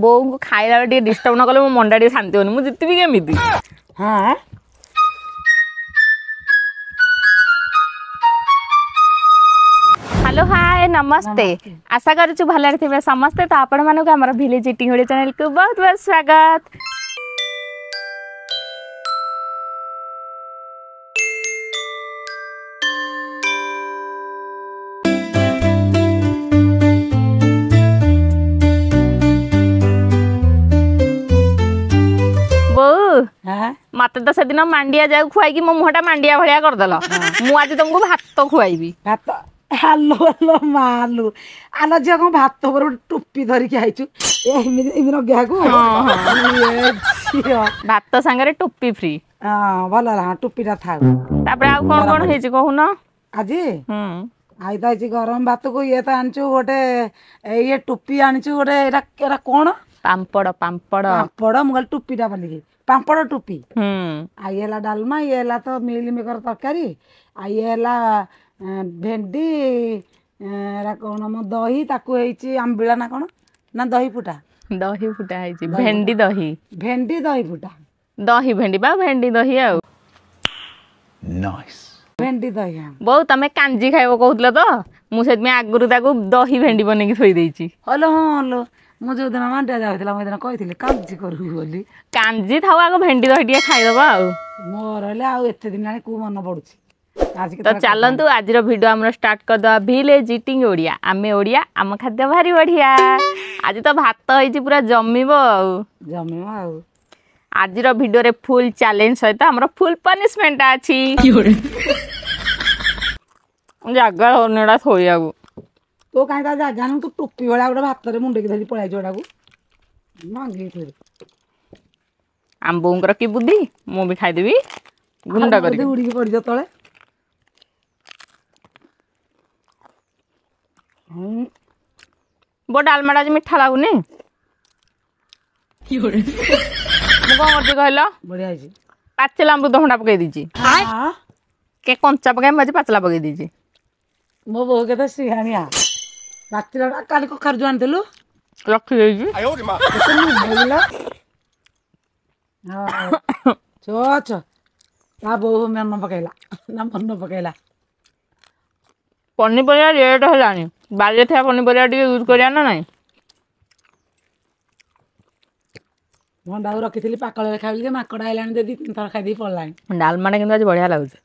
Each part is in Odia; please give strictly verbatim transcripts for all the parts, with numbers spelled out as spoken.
ବୋଉଙ୍କୁ ଖାଇଲା ବେଳେ ଟିକେ ଡିଷ୍ଟର୍ବ ନ କଲେ ମୋ ମନଟା ଟିକେ ଶାନ୍ତି ହଉନି। ମୁଁ ଜିତିବି କେମିତି? ହଁ, ହ୍ୟାଲୋ, ହାଏ, ନମସ୍ତେ। ଆଶା କରୁଛୁ ଭଲରେ ଥିବେ ସମସ୍ତେ। ତ ଆପଣମାନଙ୍କୁ ଆମର ଭିଲେଜ ଇଟିଂ ଓଡ଼ିଆ ଚ୍ୟାନେଲକୁ ବହୁତ ବହୁତ ସ୍ୱାଗତ। ବୋଉ, ମତେ ତ ସେଦିନ ମାଣ୍ଡିଆ ଯାଉ ଖୁଆଇକି ମୋ ମୁହଁଟା ମାଣ୍ଡିଆ ଭଳିଆ କରିଦେଲ। ମୁଁ ଆଜି ତମକୁ ଭାତ ଖୁଆଇବି। ଭାତ? ହାଲୋ ହାଲୋ ମାଲୁ, ଆଲୋ ଝିଅ, କଣ ଭାତ ଉପରେ ଗୋଟେ ଟୋପି ଧରିକି ଆଇଛୁ ଏମିତି ଏମିତି ଲଗେଇବାକୁ ଝିଅ? ଭାତ ସାଙ୍ଗରେ ଟୋପି ଫ୍ରି। ହଁ, ଭଲ ହେଲା। ହଁ, ଟୋପିଟା ଥାଉ। ତାପରେ ଆଉ କଣ କଣ ହେଇଛି କହୁନ? ଆଜି I ତ ହେଇଛି ଗରମ ଭାତକୁ ଇଏ ତ ଆଣିଛୁ ଗୋଟେ, ଇଏ ଟୋପି ଆଣିଛୁ ଗୋଟେ। ଏଇଟା ଏଇଟା କଣ? ପାମ୍ପଡ଼, ପାମ୍ପଡ଼। ପାମ୍ପଡ଼। ମୁଁ କହିଲି ଟୋପିଟା ବୋଲିକି। ପାମ୍ପଡ଼, ଟୋପି। ଆଉ ଇଏ ହେଲା ଡାଲମା, ଇଏ ହେଲା ତ ମିଲମିକର ତରକାରୀ, ଆଉ ଇଏ ହେଲା ଭେଣ୍ଡି, ଏରା କଣ ମ, ଦହି, ତାକୁ ହେଇଛି ଆମ୍ବିଳା ନା କଣ ନା ଦହି ଫୁଟା? ଦହି ଫୁଟା ହେଇଛି, ଭେଣ୍ଡି ଦହି। ଭେଣ୍ଡି ଦହି ଫୁଟା। ଦହି ଭେଣ୍ଡି ବା ଭେଣ୍ଡି ଦହି ଆଉ ଭେଣ୍ଡି ଦହି। ବୋଉ, ତମେ କାଞ୍ଜି ଖାଇବ କହୁଥିଲ ତ, ମୁଁ ସେଥିପାଇଁ ଆଗରୁ ତାକୁ ଦହି ଭେଣ୍ଡି ବନେଇକି ଥୋଇ ଦେଇଛି। ହଲୋ, ହଁ ହଲୋ, ମୁଁ ଯୋଉଦିନ ମାଣ୍ଡିଆ ଯାଉଥିଲା, ମୁଁ ଏଦିନ କହିଥିଲି କାଞ୍ଜି କରିବୁ ବୋଲି। କାଞ୍ଜି ଥାଉ, ଆଗ ଭେଣ୍ଡି ଦହି ଟିକେ ଖାଇଦବା। ଆଉ ମୋର ହେଲେ ଆଉ ଏତେ ଦିନ ହେଲାଣି କୋଉ ମନେ ପଡୁଛି ତ ଚାଲନ୍ତୁ, ଆଜିର ଭିଡ଼ିଓ ଆମର ଷ୍ଟାର୍ଟ କରିଦେବା। ଭିଲେଜ ଇଟିଂ ଓଡ଼ିଆ, ଆମେ ଓଡ଼ିଆ, ଆମ ଖାଦ୍ୟ ଭାରି ବଢ଼ିଆ। ଆଜି ତ ଭାତ ହେଇଛି, ପୁରା ଜମିବ ଆଉ। ଜମିବ ଆଉ। ଆଜିର ଭିଡ଼ିଓରେ ଫୁଲ୍ ଚ୍ୟାଲେଞ୍ଜ ସହିତ ଆମର ଫୁଲ୍ ପନିଶମେଣ୍ଟ ଅଛି। ଜାଗା ହଉନି ଏଟା ଥୋଇବାକୁ। ତୋ କାହିଁ ତା ଜାଗା ନୁ, ତୁ ଟୋପି ଭଳିଆ ଗୋଟେ ଭାତରେ ମୁଣ୍ଡେଇକି ଧରି ପଳେଇ ଏଟାକୁ ଭାଙ୍ଗିକି ଥୋଇଦେ। ଆମ ବୋଉଙ୍କର କି ବୁଦ୍ଧି, ମୁଁ ବି ଖାଇଦେବି ଗୁଣ୍ଡ କରି। ଉଡ଼ିକି ପଡ଼ିଯିବ ତଳେ। ବୋ, ଡାଲମାଟା ଆଜି ମିଠା ଲାଗୁନି। ମୁଁ କଣ କରୁଛି କହିଲ? ବଢିଆ ହେଇଛି। ପାଚିଲା ଅମୃତଭଣ୍ଡା ପକେଇ ଦେଇଛି। କେ କଞ୍ଚା ପକାଇ, ମୁଁ ଆଜି ପାଚିଲା ପକେଇ ଦେଇଛି। ମୋ ବୋଉ କେତେ ସିହାଣିଆ, ପାଚିଲା। କାଲି କଖାରୁ ଯୋଉ ଆଣିଥିଲୁ? ରଖିଦେଇଛି। ଚ ତା ବୋଉ ମନ ପକେଇଲା ନା ମନ ପକେଇଲା। ପନିପରିବା ରେଟ୍ ହେଲାଣି, ବାରିରେ ଥିବା ପନିପରିବା ଟିକେ ୟୁଜ୍ କରିବା ନା ନାଇଁ? ଭଣ୍ଡାକୁ ରଖିଥିଲି ପାକଳରେ ଖାଇଲି ଯେ ମାଙ୍କଡ଼ ଆଇଲାଣି ଯେ ଦି ତିନି ଥର ଖାଇଦେଇ ପଳେଇଲାଣି। ଡାଲମାଟା କିନ୍ତୁ ଆଜି ବଢ଼ିଆ ଲାଗୁଛି।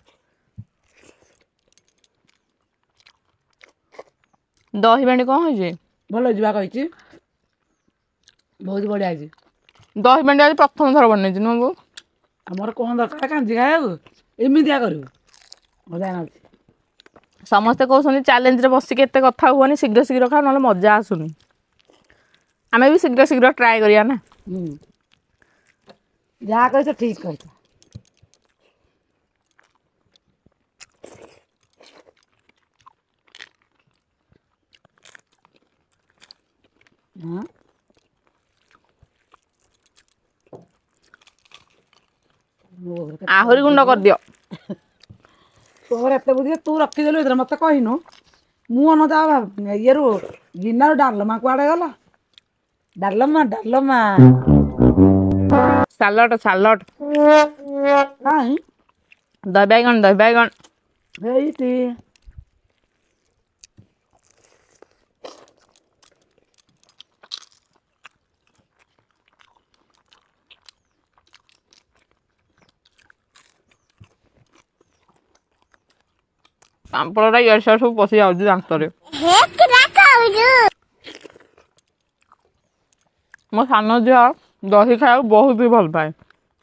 ଦହି ଭେଣ୍ଡି କ'ଣ ହେଇଛି? ଭଲ ଯିବା କହିଛି, ବହୁତ ବଢ଼ିଆ ହେଇଛି। ଦହି ଭେଣ୍ଡି ଆଜି ପ୍ରଥମ ଥର ବନେଇଛି ନୁହଁ ବୋଉ? ଆମର କ'ଣ ଦରକାର କାଞ୍ଜି ଖାଇବାକୁ, ଏମିତିଆ କରିବୁ ମଜା ଲାଗୁଛି। ସମସ୍ତେ କହୁଛନ୍ତି ଚ୍ୟାଲେଞ୍ଜରେ ବସିକି ଏତେ କଥା ହୁଅନି, ଶୀଘ୍ର ଶୀଘ୍ର ଖାଅ, ନହେଲେ ମଜା ଆସୁନି। ଆମେ ବି ଶୀଘ୍ର ଶୀଘ୍ର ଟ୍ରାଏ କରିବା ନା। ଯାହା କହିଛ ଠିକ କହିଛ। ଆହୁରି ଗୁଣ୍ଡ କରିଦିଅ। ତୋର ଏତେ ବୁଦ୍ଧି, ତୁ ରଖିଦେଲୁ ଏଥିରେ, ମତେ କହିନୁ। ମୁଁ ଅନତା ଇଏରୁ ଗିନାରୁ ଡାଲମା କୁଆଡ଼େ ଗଲା? ଡାଲମା, ଡାଲମା। ସାଲଟ, ସାଲଟ। କାହିଁ? ଦହି ବାଇଗଣ, ଦହି ବାଇଗଣ। ହେଇଟି। ପାମ୍ପଡ଼ଟା ଇଆଡ଼େ ସିଆଡ଼େ ସବୁ ପଶି ଯାଉଛି ଦାନ୍ତରେ। ମୋ ସାନ ଝିଅ ଦହି ଖାଇବାକୁ ବହୁତ ବି ଭଲ ପାଏ।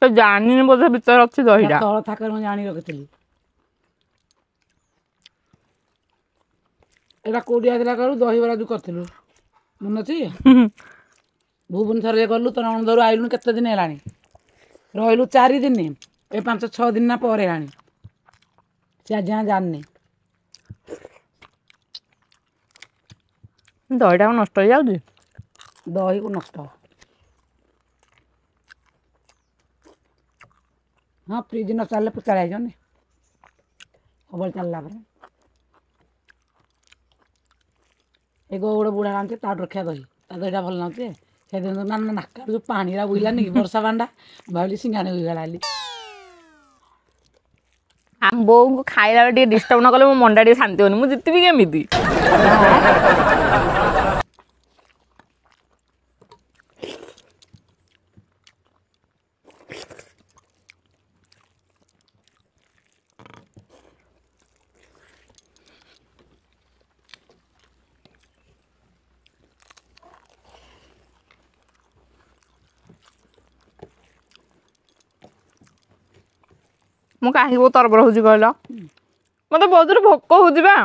ସେ ଜାଣିନି ବୋଧେ ଭିତରେ ଅଛି ଦହିଟା। ତଳ ଥାକରେ ମୁଁ ଜାଣି ରଖିଥିଲି। ଏଇଟା କୋଉଠି ଆସିଲା କରୁ? ଦହିବରା ଯୋଉ କରିଥିଲୁ ମନେ ଅଛି? ଭୁବନେଶ୍ୱରରେ ଗଲୁ, ତୋ ନଣନ୍ଦରୁ ଆଇଲୁଣି କେତେ ଦିନ ହେଲାଣି, ରହିଲୁ ଚାରି ଦିନ, ଏ ପାଞ୍ଚ ଛଅ ଦିନ ନା ପରେ ହେଲାଣି, ସେ ଆଜି ଯାଏଁ ଜାଣିନି। ଦହିଟା ନଷ୍ଟ ହେଇଯାଉଛି। ଦହିକୁ ନଷ୍ଟ? ହଁ, ଫ୍ରିଜ୍ ନ ଚାଲିଲେ ପୋଚାଳିଆ ହେଇଯାଉନି ସବୁବେଳେ ଚାଲିଲା ପରେ। ଏ ଗୋଟେ ବୁଢ଼ା ଆଣିଛି, ତାଠୁ ରଖିବା ଦହି, ତା ଦହିଟା ଭଲ ଲାଗୁଛି। ସେଦିନ ନା ନାକରୁ ଯୋଉ ପାଣିରା ବୋହିଲାନି କି ବର୍ଷା ପାଣିଟା, ଭାବିଲି ସିଙ୍ଗାଣି ହୋଇଗଲା ବୋଲି। ଆମ ବୋଉଙ୍କୁ ଖାଇଲା ବେଳେ ଟିକେ ଡିଷ୍ଟର୍ବ ନ କଲେ ମୋ ମନଟା ଟିକେ ଶାନ୍ତି ହଉନି। ମୁଁ ଜିତିବି କେମିତି? ମୁଁ କାହିଁକି ବହୁତ ତରବର ହଉଛି କହିଲ? ମତେ ବହୁତ ଜୋରେ ଭୋକ ହଉଛି ବା।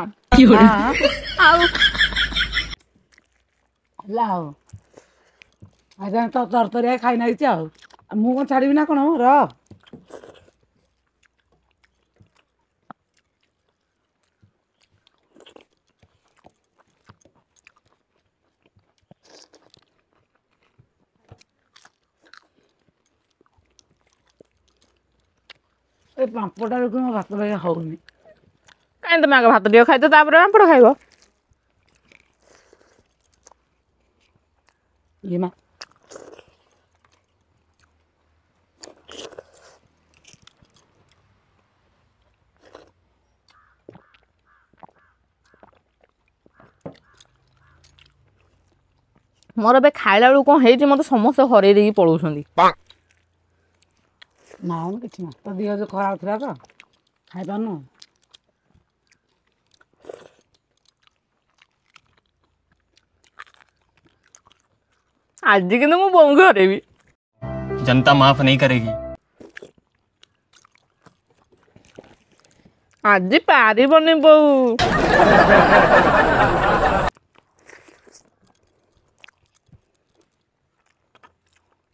ଆଉ ହେଲା ଆଉ ଆଜି ତ ତରତରିଆ ଖାଇ ନାଇଛି, ଆଉ ମୁଁ କଣ ଛାଡ଼ିବି ନା କଣ ର। ଏ ପାମ୍ପଡ଼ଟା ଦେଖୁ ମୋ ଭାତ ବାଗିଆ ହଉନି। କାହିଁ, ତମେ ଆଗ ଭାତ ଟିକେ ଖାଇଦିଅ, ତାପରେ ପାମ୍ପଡ଼ ଖାଇବ। ଇଏ ମା, ମୋର ଏବେ ଖାଇଲା ବେଳକୁ କଣ ହେଇଛି, ମତେ ସମସ୍ତେ ହରେଇ ଦେଇକି ପଳଉଛନ୍ତି। ନା କିଛି ନା, ତୋ ଦେହ ଯୋଉ ଖରାପ ଥିଲା ତ ଖାଇପାରୁନୁ। ଆଜି କିନ୍ତୁ ମୁଁ ବୋଉଙ୍କୁ ହରେଇବି। जनता माफ नहीं करेगी। ଆଜି ପାରିବନି ବୋଉ।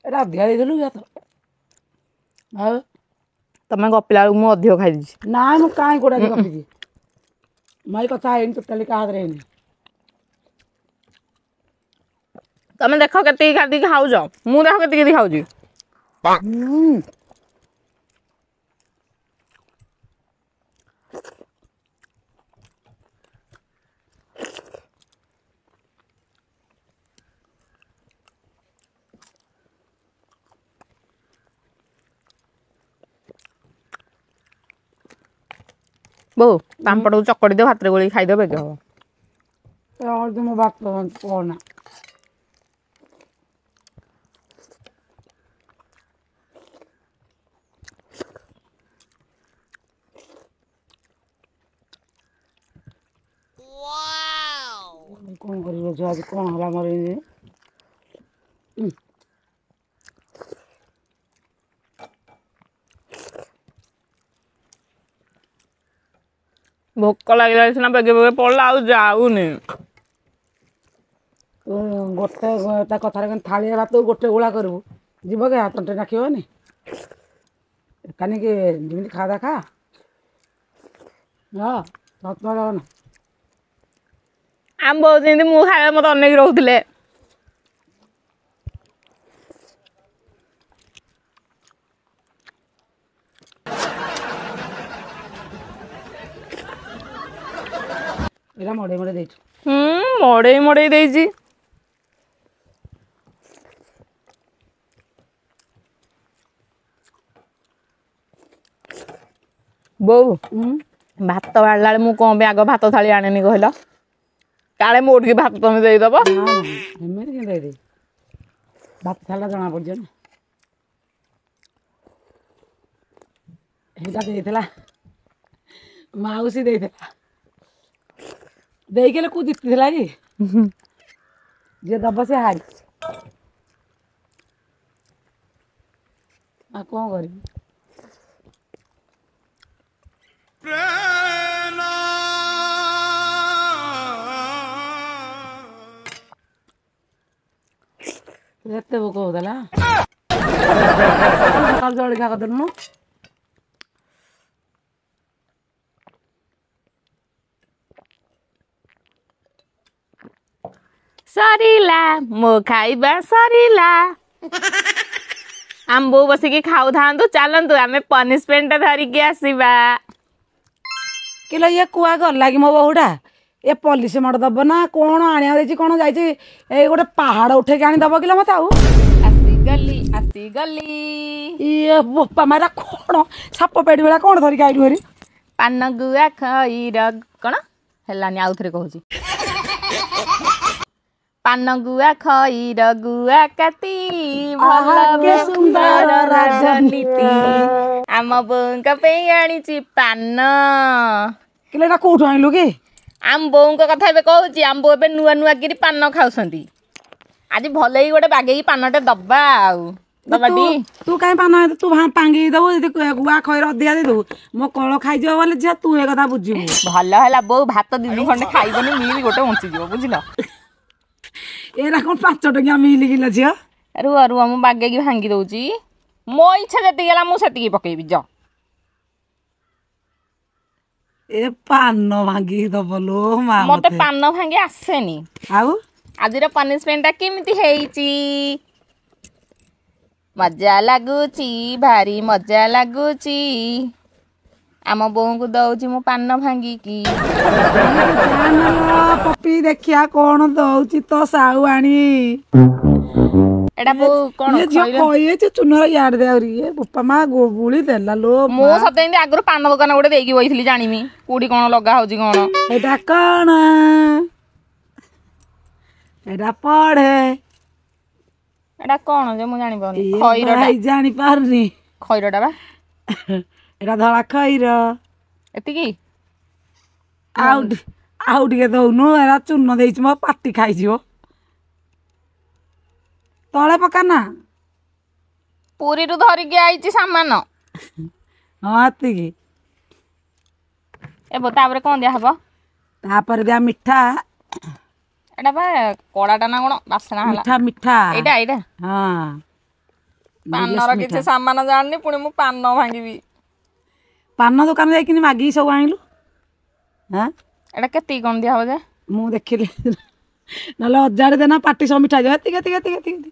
ଏଟା ଅଧିକା ଦେଇଥିଲୁ କି ଭାତ? ଆଉ ତମେ ଗପିଲା ବେଳକୁ ମୁଁ ଅଧିକ ଖାଇଦେଇଛି। ନା, ମୁଁ କାହିଁ କୋଉଟା ଗପିଛି? ମୁଁ ଏଇ କଥା ହେଇନି ଟୋଟାଲି, କାହା ହାତରେ ହେଇନି। ତମେ ଦେଖ କେତିକି ଖାଇକି ଖାଉଛ, ମୁଁ ଦେଖ କେତିକି ଖାଉଛି। ହୁଁ, ବୋଉ, ପାମ୍ପଡ଼କୁ ଚକଡ଼ି ଦିଅ, ଭାତରେ ଗୋଳେଇକି ଖାଇଦିଅ, ବେଗି ହବ। ମୋ ଭାତ କହନା। କଣ କରିବ ଝିଅ, ଆଜି କଣ ହେଲା ମୋର ଏମିତି? ଭୋକ ଲାଗିଲାଣି ସିନା, ବେଗେ ବେଗେ ପଡିଲା ଆଉ ଯାଉନି। ତୁ ଗୋଟେ ତା କଥାରେ ଥାଳିଆ ଭାତକୁ ଗୋଟେ ଗୁଳା କରିବୁ, ଯିବ କି? ତଣ୍ଟି ନାଖିବନି କାନିକି? ଯେମିତି ଖା ଖା, ହଁ ସତ ନା। ଆମ ବୋଉ ଯେମିତି ମୁଁ ଖାଇବା ମତେ ଅନେଇକି ରହୁଥିଲେ। ଏଇଟା ମଡ଼େଇ ମଡ଼େଇ ଦେଇଛୁ। ହୁଁ, ମଡେଇ ମଡେଇ ଦେଇଛି। ବୋଉ, ଭାତ ବାଢ଼ିଲା ବେଳେ ମୁଁ କଣ ପାଇଁ ଆଗ ଭାତ ଥାଳି ଆଣେନି କହିଲ? କାଳେ ମୋ ଟିକେ ଭାତ ତମେ ଦେଇଦବ। ନା, ଏମିତି କେମିତି ଦେଇଦେବି? ଭାତ ଥାଳିଟା ଜଣା ପଡ଼ିଯିବ ନା। ଏଇଟା ଦେଇଥିଲା ମାଉସୀ, ଦେଇଥିଲା ଦେଇକି ହେଲେ କୋଉ ଜିତିଥିଲା କି? ଯିଏ ଦବ ସେ ହାରି, ଆଉ କଣ କରିବି? ଏତେ ଭୋକ ହଉଥିଲା, ସକାଳୁ ଜଳଖିଆ କରିଦେଲୁନୁ। ସରିଲା, ମୋ ଖାଇବା ସରିଲା। ଆମ ବୋଉ ବସିକି ଖାଉଥାନ୍ତୁ, ଚାଲନ୍ତୁ ଆମେ ପନିଶମେଣ୍ଟ ଧରିକି ଆସିବା। କିଲୋ, ଇଏ କୁଆ ଗଲା କି ମୋ ବୋହୂଟା? ଏ ପଲିସି ମାଡ଼ ଦବ ନା କଣ ଆଣିବାକୁ ଦେଇଛି କଣ ଯାଇଛି ଏଇ ଗୋଟେ ପାହାଡ଼ ଉଠେଇକି ଆଣି ଦବ କିଲୋ ମତେ ଆଉ ଆସିଗଲି ଆସିଗଲି ଇଏ ବୋପା ମାରା କଣ ସାପ ପେଡି ଭଳିଆ କଣ ଧରିକି ଆଇଲୁ ହେରି ପାନ ଗୁଆ ଖଇର କଣ ହେଲାନି ଆଉ ଥରେ କହୁଛି ପାନ ଗୁଆ ଖଇର ଗୁଆ କାତି ଭଲ ଆହା, ସୁନ୍ଦର ରାଜନୀତି ଆମ ବୋଉଙ୍କ ପାଇଁ ଆଣିଛି ପାନ କିଲୋ ଏଇଟା କୋଉଠୁ ଆଣିଲୁ କି ଆମ ବୋଉଙ୍କ କଥା ଏବେ କହୁଛି ଆମ ବୋଉ ଏବେ ନୂଆ ନୂଆ କିରି ପାନ ଖାଉଛନ୍ତି ଆଜି ଭଲ ହେଇକି ଗୋଟେ ବାଗେଇକି ପାନଟେ ଦବା ଆଉ ଦବା ତୁ ଟି ତୁ କାଇଁ ପାନ ଆଣିଛୁ? ତୁ ଭା- ଭାଙ୍ଗିକି ଦବୁ ଯଦି ଗୁଆ ଖଇର ଅଧିକା ଦେଇଦବୁ ମୋ କଳ ଖାଇଯିବ ବୋଲେ ଝିଅ ତୁ ଏ କଥା ବୁଝିବୁ ଭଲ ହେଲା ବୋଉ ଭାତ ଦି ଖଣ୍ଡେ ଖାଇବନି ମିଲ୍ ଗୋଟେ ବଞ୍ଚିଯିବ ବୁଝିଲ ଏଇଟା କଣ ପାଞ୍ଚ ଟଙ୍କିଆ ମିଲି କିଲୋ ଝିଅ ରୁହ ରୁହ ମୁଁ ବାଗେଇକି ଭାଙ୍ଗି ଦଉଛି ମୋ ଇଚ୍ଛା ଯେତିକି ହେଲା ମୁଁ ସେତିକି ପକେଇବି ଯ ଏ ପାନ ଭାଙ୍ଗିକି ଦବ ଲୋ ମା ମତେ ମତେ ପାନ ଭାଙ୍ଗି ଆସେନି ଆଉ ଆଜିର ପନିଶମେଣ୍ଟଟା କେମିତି ହେଇଛି ମଜା ଲାଗୁଛି ଭାରି ମଜା ଲାଗୁଛି ଆମ ବୋଉଙ୍କୁ ଦଉଛି ମୁଁ ପାନ ଭାଙ୍ଗିକି ଜାଣିଲ, ପପି ଦେଖିଆ କଣ ଦଉଛି ତ ସାଉ ଆଣି ଏଟା ବୋଉ କଣ ଇଏ ଝିଅ ଖଇର ଖଇଛି ଚୁନର ଇଆଡେ ଦେ ଆହୁରି ଇଏ ବୋପା ମା ଗୁଳି ଦେଲା ଲୋ ମୁଁ ସତେ ଏମିତି ଆଗରୁ ପାନ ଦୋକାନ ଗୋଟେ ଦେଇକି ବଇଥିଲି ଜାଣିମି କୋଉଠି କଣ ଲଗା ହଉଛି କଣ ଏଇଟା କଣ ଏଇଟା ପଢେ ଏଟା କଣ ଯେ ମୁଁ ଜାଣିପାରୁନି ଇଏ ଖଇରଟା ଭାଇ ଜାଣିପାରୁନି ଖଇରଟା ବା ଏଇଟା ଧଳା ଖଇର ଏତିକି ଆଉ ଟି- ଆଉ ଟିକେ ଦଉନୁ ଏରା ଚୂନ ଦେଇଛି ମୋ ପାଟି ଖାଇଯିବ ତଳେ ପକା ନା ପୁରୀରୁ ଧରିକି ଆଇଛି ସାମାନ ହଁ ଏତିକି ଏ ବୋ ତାପରେ କଣ ଦିଆହବ ତାପରେ ଦିଆ ମିଠା ଏଟା ବା କଡ଼ାଟା ନା କଣ ବାସ୍ନା ହେଲା ମିଠା ମିଠା ଏଇଟା ଏଇଟା ହଁ ପାନର କିଛି ସାମାନ ଜାଣିନି ପୁଣି ମୁଁ ପାନ ଭାଙ୍ଗିବି ପାନ ଦୋକାନ ଯାଇକିନି ମାଗିକି ସବୁ ଆଣିଲୁ ହଁ ଏଟା କେତିକି କଣ ଦିଆହବ ଯେ ମୁଁ ଦେଖିଲି ନହେଲେ ଅଜାଡ଼ି ଦେନା ପାଟି ସବୁ ମିଠା ହେଇଯିବ ଏତିକି ଏତିକି ଏତିକି ଏତିକି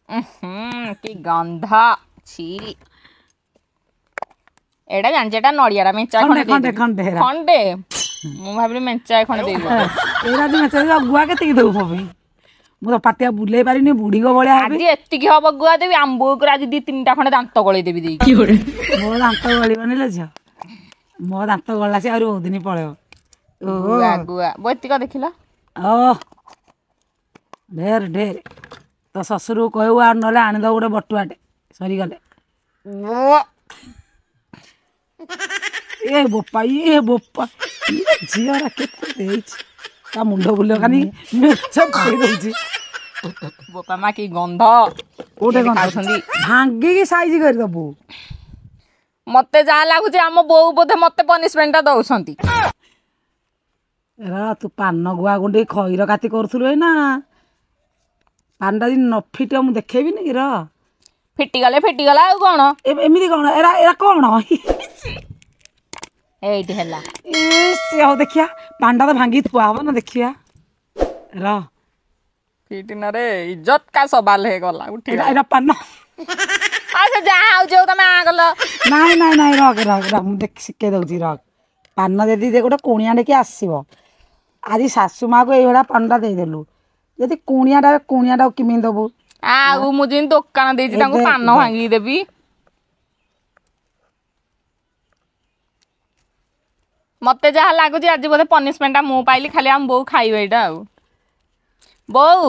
ଉହୁଁ, କି ଗନ୍ଧ ଛି ଏଇଟା ଜାଣିଛି ଏଟା ନଡିଆଟା ମେଞ୍ଚାଏ ଖଣ୍ଡେ ଖଣ୍ଡେ ଖଣ୍ଡେ ଦେଇଦେବି। ଖଣ୍ଡେ ହେରା ଖଣ୍ଡେ ମୁଁ ଭାବିଲି ମେଞ୍ଚାଏ ଖଣ୍ଡେ ଦେଇଦେବି ଏଇରା ଯଦି ମେଞ୍ଚେ ଗୁଆ କେତିକି ଦବୁ ମୋ ପାଇଁ ମୁଁ ତ ପାଟିଆ ବୁଲେଇ ପାରିନି ବୁଢୀଙ୍କ ଭଳିଆ ହେବି ଆଜି ଏତିକି ହବ ଗୁଆ ଦେବି ଆମ୍ବ ଉପରେ ଆଜି ଦି ତିନିଟା ଖଣ୍ଡେ ଦାନ୍ତ ଗଳେଇ ଦେବି ଦେଇକି ମୋ ଦାନ୍ତ ଗଳିବନି ଲୋ ଝିଅ ମୋ ଦାନ୍ତ ଗଳିଲା ସେ ଆହୁରି ବହୁତ ଦିନ ପଳେଇବ ଓହୋ ଗୁଆ ଗୁଆ ବୋ ଏତିକ ଦେଖିଲ ଓ ଢେର ଢେର ତୋ ଶ୍ୱଶୁରକୁ କହିବୁ ଆଉ ନହେଲେ ଆଣିଦବୁ ଗୋଟେ ବଟୁଆଟେ ସରିଗଲେ ଏ ବୋପା ଇଏ ବୋପା ଇଏ ଝିଅଟା କେତେ ଦେଇଛି ତା ମୁଣ୍ଡ ବୁଲିବ ଖାଲି ମେଞ୍ଚ ପକେଇ ଦଉଛି ବୋପା ମା କି ଗନ୍ଧ କୋଉଠି କେମିତି ଗନ୍ଧ? ଖାଉଛନ୍ତି ଭାଙ୍ଗିକି ସାଇଜ କରିଦବୁ ମତେ ଯାହା ଲାଗୁଛି ଆମ ବୋଉ ବୋଧେ ମତେ ପନିଶମେଣ୍ଟ ଟା ଦଉଛନ୍ତି ଏରା ତୁ ପାନ ଗୁଆ ଗୁଣ୍ଡି ଖଇର କାତି କରୁଥିଲୁ ଏଇନା ପାନଟା ଯଦି ନ ଫିଟିବ ମୁଁ ଦେଖେଇବିନି କି ର ଫିଟିଗଲେ ଫିଟିଗଲା ଆଉ କଣ ଏ- ଏମିତି କଣ ଏରା ଏରା କଣ ଏଇଠି ହେଲା ଏ ସେ ହଉ ଦେଖିଆ ପାନଟା ତ ଭାଙ୍ଗିକି ଥୁଆ ହବ ନା ଦେଖିଆ ର ଫିଟିନାରେ ଇଜ୍ଜତ କା ସବାଲ ହେଇଗଲା ଉଠି ଏଇଟା ଏଇଟା ପାନ ଆଉ ସେ ଯାହା ହଉଛି ହଉ ତମେ ଆ କଲ ନାଇଁ ନାଇଁ ନାଇଁ ରଖ ରଖ ରଖ ମୁଁ ଦେଖି ଶିଖେଇ ଦଉଛି ରଖ ପାନ ଯଦି ଦେ ଗୋଟେ କୁଣିଆ ନେଇକି ଆସିବ ଆଜି ଶାଶୁ ମାକୁ ଏଇଭଳିଆ ପାନଟା ଦେଇଦେଲୁ ଯଦି କୁଣିଆଟା କୁଣିଆଟାକୁ କେମିତି ଦବୁ ଆଉ ମୁଁ ଯେମିତି ଦୋକାନ ଦେଇଛି ତାଙ୍କୁ ଏବେ- ପାନ ଭାଙ୍ଗିକି ଦେବି ମତେ ଯାହା ଲାଗୁଛି ଆଜି ବୋଧେ ପନିଶମେଣ୍ଟ ଟା ମୁଁ ପାଇଲି ଖାଲି ଆମ ବୋଉ ଖାଇବେ ଏଇଟା ଆଉ ବୋଉ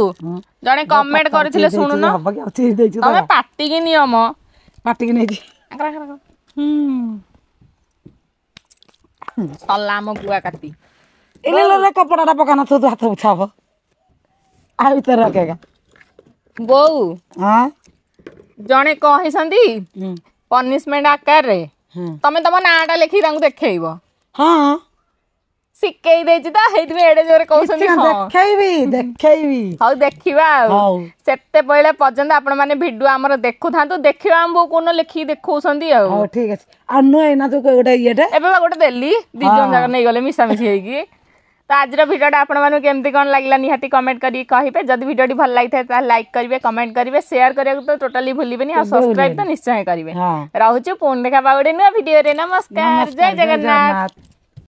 ଜଣେ କମେଣ୍ଟ କରିଥିଲେ ଶୁଣୁନ ହବ କି ଆଉ ଚିରି ଦେଇଛୁ ତ ତମେ ପାଟିକି ନିୟମ ପାଟିକି ନେଇଛି ସଲା ଆମ ଗୁଆ କାତି ଏଲେ ଲେ କପଡ଼ାଟା ପକା ନଥିବ ତୁ ହାତ ପୋଛା ହବ ଆଉ ଭିତରେ ରଖେଗା ବୋଉ ହଁ ଜଣେ କହିଛନ୍ତି ପନିଶମେଣ୍ଟ ଆକାରରେ ହୁଁ। ତମେ ତମ ନାଁଟା ଲେଖିକି ତାଙ୍କୁ ଦେଖେଇବ ହଁ ଶିଖେଇ ଦେଇଛି ତ ସେଇଥିପାଇଁ ଏଡେ ଜୋରେ କହୁଛନ୍ତି ହଁ ଦେଖେଇବି ଦେଖେଇବି ହଉ ଦେଖିବା ଆଉ ହଉ। ସେତେବେଳେ ପର୍ଯ୍ୟନ୍ତ ଆପଣ ମାନେ ଭିଡିଓ ଆମର ଦେଖୁଥାନ୍ତୁ ଦେଖିବା ଆମ ବୋଉ କୋଉଦିନ ଲେଖିକି ଦେଖଉଛନ୍ତି ଆଉ ହଉ ଠିକ ଅଛି ଆଉ ନୁହେଁ ଏଇନା ତୁ ଗୋଟେ ଇଏଟେ ଏବେ ବା ଗୋଟେ ଦେଲି ଦି ଜଣ ଯାକ ନେଇଗଲେ ମିଶାମିଶି ହେଇକି ତ ଆଜିର ଭିଡ଼ିଓଟା ଆପଣମାନଙ୍କୁ କେମିତି କ'ଣ ଲାଗିଲା ନିହାତି କମେଣ୍ଟ କରିକି କହିବେ ଯଦି ଭିଡ଼ିଓଟି ଭଲ ଲାଗିଥାଏ ତାହେଲେ ଲାଇକ୍ କରିବେ କମେଣ୍ଟ କରିବେ ସେୟାର କରିବାକୁ ତ ଟୋଟାଲି ଭୁଲିବେନି ଆଉ ସବସ୍କ୍ରାଇବ ତ ନିଶ୍ଚୟ କରିବେ ହଁ ରହୁଛୁ ପୁଣି ଦେଖା ଗୋଟେ ନୂଆ ଭିଡ଼ିଓରେ ନମସ୍କାର ଜୟ ଜଗନ୍ନାଥ ଜଗନ୍ନାଥ